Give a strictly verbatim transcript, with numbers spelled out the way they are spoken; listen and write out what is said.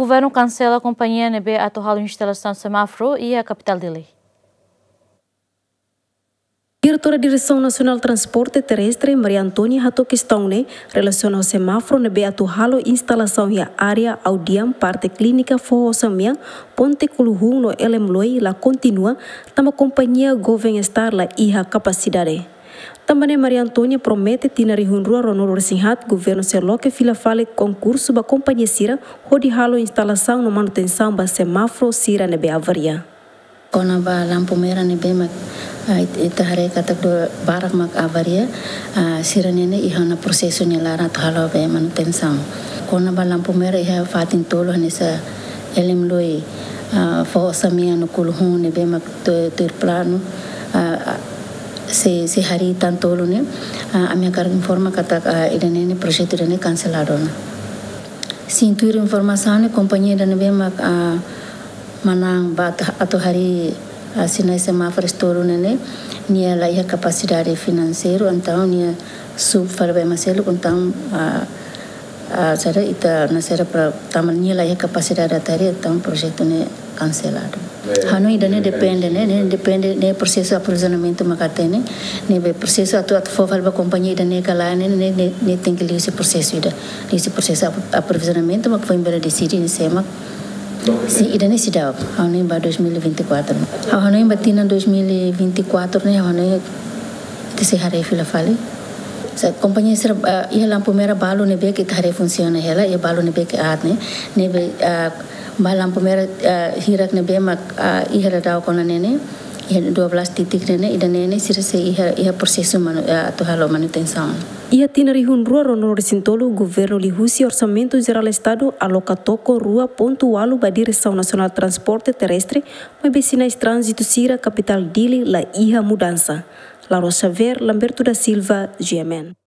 Governu kansela kompañia ne'ebé atu halo instalasaun semáforu iha kapitál Dili. Diretora Diresaun Nasionál Transporte Terrestre, Maria Antónia, hato'o kestaun ne'e relasiona ho semáforu ne'ebé atu halo instalasaun iha área Audiam, parte klínika Foho Osan-Mean, ponte Kuluhun no Elem Loi la kontinua, tanba kompañia Goven Star la iha kapasidade. Tanba ne'e Maria Antónia promete tinan rihun rua ruanulu-resin-haat governu sei loke fila fali konkursu ba kompañia sira hodi halo instalasaun no manutensaun ba semáforu sira ne'ebé avaria. Kona-ba lampu merah ne'ebé mak, ah, it-, ita haree katak dua barak mak avaria, ah, sira-ne'e ne'e iha ona prosesu nia laran atu halo be manutensaun. Kona-ba lampu merah iha fatin tolu hanesan Elem Loi, ah, Foho Osan-Mean no Kuluhun ne'ebé mak tu-, tuir planu, ah, ah, sei, sei harii tan tolu ne'e, ah, ami hakarak informa katak, ah, ida-ne'e ne'e projetu ida-ne'e kanseladu ona. Sin, tuir informasaun ne'e kompañia ida ne'ebé mak, ah, manán ba atu, atu harii, ah, sinais semáforu tolu ne'e ne'e, nia la iha kapasidade finanseiru, entaun nia sub fali ba ema seluk, entaun, ah, ah, sira ita na sira para tanba nia la iha kapasidade atu harii, entaun projetu ne'e kanseladu. Hanoin ida-ne'e depende, ne'e, ne'e depende, ne'e prosesu aprovizionamentu mak hatene, ne'ebé prosesu atu, atu fó fali ba kompañia ida-ne'e ka lae, ne'e, ne'e, ne'e, ne'e tenke liu husi prosesu ida. Liu husi prosesu apro-, aprovizionamentu mak foin bele deside ne'e sé mak. Sin, ida-ne'e seidauk, hanoin ba dois mil e vinte e quatro. Hanoin ba tinan dois mil e vinte e quatro ne'e, hanoin ita sei haree fila fali. Sa kompañia sira, ah, iha lampu merah balu ne'ebé ke ita haree funsiona hela, iha balu ne'ebé ke aat ne'e, ne'ebé, ah, ba lampu merah, ah, hirak ne'ebé mak, ah, iha daudaun ona ne'e ne'e, iha dua belas titik ne'e ne'e, ida-ne'e ne'e sira sei iha, iha prosesu manu-, ah, atu halo manutensaun. Iha tinan rihun rua ruanulu-resin-tolu, governu liuhusi Orsamentu Jerál Estadu aloka toko rua pontu ualu ba Diresaun Nasionál Transporte Terrestre, maibé sinais tránzitu sira kapitál Dili la iha mudansa. Laura Xavier, Lamberto da Silva, G M N.